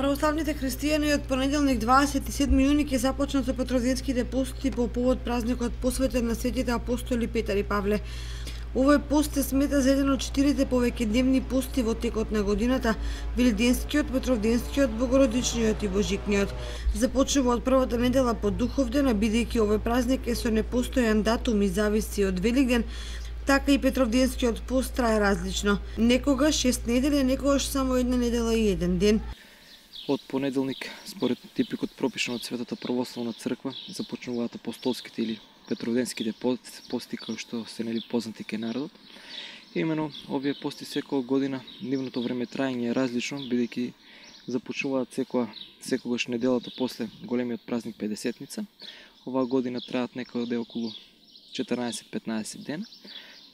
Православните христијани од понеделник 27 јуни ќе започнат со петровденските пости по повод празникот посветен на светите апостоли Петар и Павле. Овој пост се смета за еден од 4 повеќедневни пости во текот на годината: Велиденскиот, Петровденскиот, Богородичниот и Божикниот. Започнува од првата недела по Духовден, а бидејќи овој празник е со непостојан датум и зависи од Великден, така и Петровденскиот пост трае различно. Некогаш 6 недели, некогаш само една недела и еден ден. Од понеделник, според типикот пропишан од Светата православна црква, започнуваат апостолските или петровденските пости, кои што се познати кај народот. Имено овие пости секоја година, нивното време траење е различно, бидејќи започнуваат секогаш неделата после големиот празник Педесетница. Оваа година траат некаде околу 14-15 дена.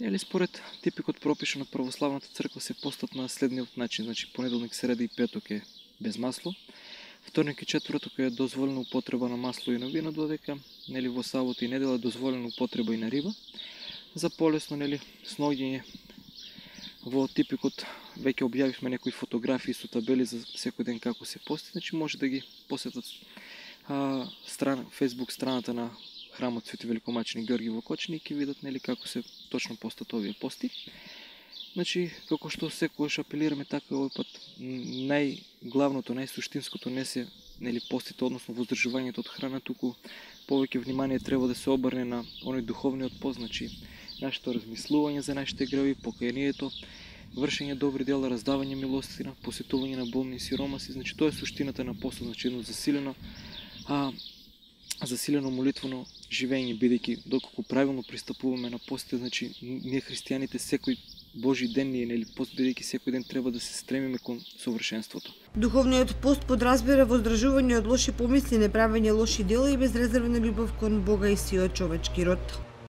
Или според типикот пропишан од православната црква се постат на следниот начин, значи понеделник, среда и петок е без масло. Вторник и четврток е дозволена употреба на масло и на вино, додека во сабота и недела е дозволена употреба и на риба. За полесно сноѓење во типикот веќе објавивме некои фотографии со табели за секој ден како се пости, значи може да ги посетат Facebook страната на храмот Свети Великомаченик Ѓорги во Кочани и ќе видат како се точно постат овие пости. Значи, како што секогаш апелираме, така овој пат најглавното, најсуштинското не се постите, односно воздржувањето од храна, туку повеќе внимание треба да се обрне на оној духовниот пост, значи нашето размислување за нашите греви, покајанието, вршење добри дела, раздавање милостина, посетување на болни и сиромаси. Значи тоа е суштината на постот, значи едно засилено молитвено живење, бидејќи доколку правилно пристапуваме на постите, значи ние христијаните секој Божи ден ние пост, бидејќи секој ден треба да се стремиме кон совршенството. Духовниот пост подразбира воздржување од лоши помисли, неправење лоши дела и безрезервна љубов кон Бога и сиот човечки род.